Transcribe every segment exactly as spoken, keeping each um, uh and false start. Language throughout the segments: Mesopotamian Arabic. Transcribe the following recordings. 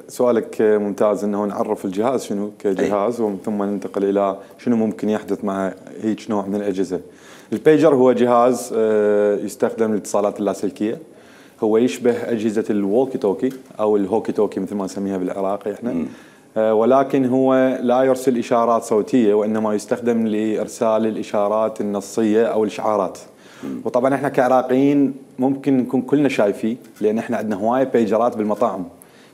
سؤالك ممتاز، انه نعرف الجهاز شنو كجهاز ومن ثم ننتقل الى شنو ممكن يحدث مع هيك نوع من الاجهزه. البيجر هو جهاز يستخدم للاتصالات اللاسلكيه، هو يشبه اجهزه الووكي توكي او الهوكي توكي مثل ما نسميها بالعراقي احنا، ولكن هو لا يرسل اشارات صوتيه وانما يستخدم لارسال الاشارات النصيه او الاشعارات. وطبعا احنا كعراقيين ممكن نكون كلنا شايفين، لان احنا عندنا هوايه بيجرات بالمطاعم،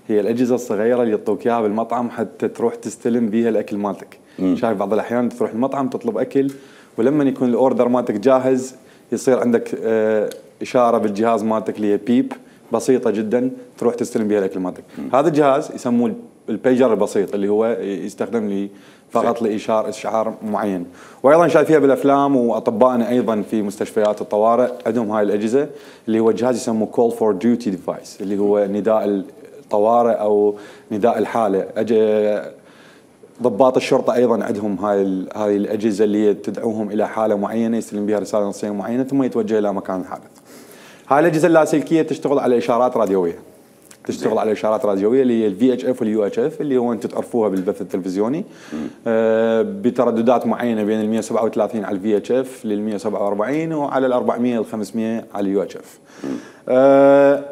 هي الاجهزه الصغيره اللي يعطوك اياها بالمطعم حتى تروح تستلم بيها الاكل مالتك. شايف بعض الاحيان تروح المطعم تطلب اكل، ولما يكون الاوردر مالتك جاهز يصير عندك اه اشاره بالجهاز مالتك اللي هي بيب بسيطه جدا تروح تستلم بها الاكل مالتك. هذا الجهاز يسموه البيجر البسيط اللي هو يستخدم لي فقط لاشاره اشعار معين. وايضا شايفيها بالافلام، واطبائنا ايضا في مستشفيات الطوارئ عندهم هاي الاجهزه اللي هو جهاز يسموه كول فور ديوتي ديفايس، اللي هو نداء الطوارئ او نداء الحاله. ضباط الشرطه ايضا عندهم هاي هاي الاجهزه اللي تدعوهم الى حاله معينه يستلم بها رساله نصيه معينه ثم يتوجه الى مكان الحادث. هاي الاجهزه اللاسلكيه تشتغل على اشارات راديويه، تشتغل على اشارات راديويه اللي هي الفي اتش اف واليو اتش اف اللي هو انتم تعرفوها بالبث التلفزيوني، آه بترددات معينه بين ال مئة وسبعة وثلاثين على الفي اتش اف لل مئة وسبعة وأربعين وعلى ال أربعمئة وال خمسمئة على اليو اتش اف. آه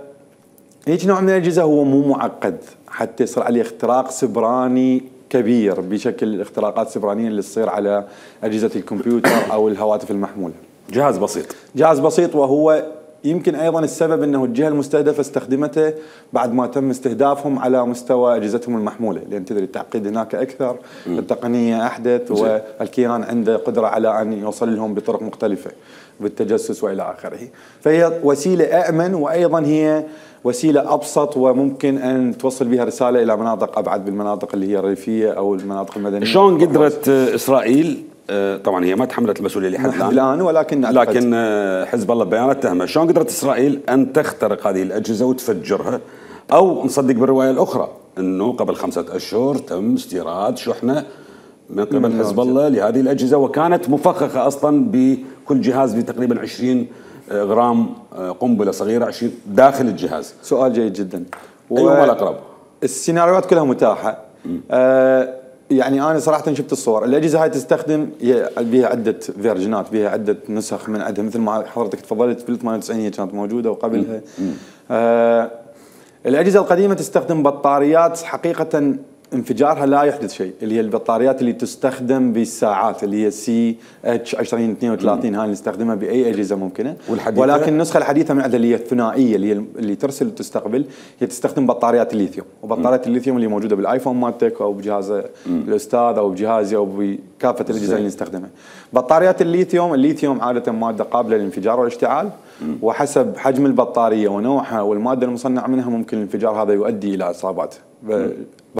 هيك نوع من الاجهزه هو مو معقد حتى يصير عليه اختراق سبراني كبير بشكل الاختراقات السبرانيه اللي تصير على اجهزه الكمبيوتر او الهواتف المحموله. جهاز بسيط، جهاز بسيط، وهو يمكن ايضا السبب انه الجهه المستهدفه استخدمته بعد ما تم استهدافهم على مستوى اجهزتهم المحموله، لان تدري التعقيد هناك اكثر، التقنيه احدث، والكيان عنده قدره على ان يوصل لهم بطرق مختلفه بالتجسس والى اخره. فهي وسيله امن، وايضا هي وسيله ابسط وممكن ان توصل بها رساله الى مناطق ابعد بالمناطق اللي هي الريفيه او المناطق المدنيه. شلون قدرت اسرائيل، طبعا هي ما تحملت المسؤوليه لحد الان، ولكن لكن حزب الله ببيانات تهمه، شلون قدرت اسرائيل ان تخترق هذه الاجهزه وتفجرها؟ او نصدق بالروايه الاخرى انه قبل خمسه اشهر تم استيراد شحنه من قبل حزب الله لهذه الاجهزه، وكانت مفخخه اصلا بكل جهاز بتقريبا عشرين غرام قنبله صغيره عشرين داخل الجهاز. سؤال جيد جدا. ايهما الاقرب؟ السيناريوهات كلها متاحه. آه يعني انا صراحه شفت الصور، الاجهزه هاي تستخدم بها عده فيرجنات، بها عده نسخ من عندها، مثل ما حضرتك تفضلت في ثمانية وتسعين هي كانت موجوده وقبلها. آه الاجهزه القديمه تستخدم بطاريات حقيقه انفجارها لا يحدث شيء، اللي هي البطاريات اللي تستخدم بالساعات اللي هي سي اتش عشرين اثنين وثلاثين، هاي نستخدمها باي اجهزه ممكنه. ولكن النسخه الحديثه من عندها اللي هي الثنائيه اللي هي اللي ترسل وتستقبل، هي تستخدم بطاريات الليثيوم، وبطاريات الليثيوم اللي موجوده بالايفون مالتك او بجهاز الاستاذ او بجهازي او بكافه الاجهزه اللي نستخدمها. بطاريات الليثيوم، الليثيوم عاده ماده قابله للانفجار والاشتعال، وحسب حجم البطاريه ونوعها والماده المصنع منها ممكن الانفجار هذا يؤدي الى اصابات.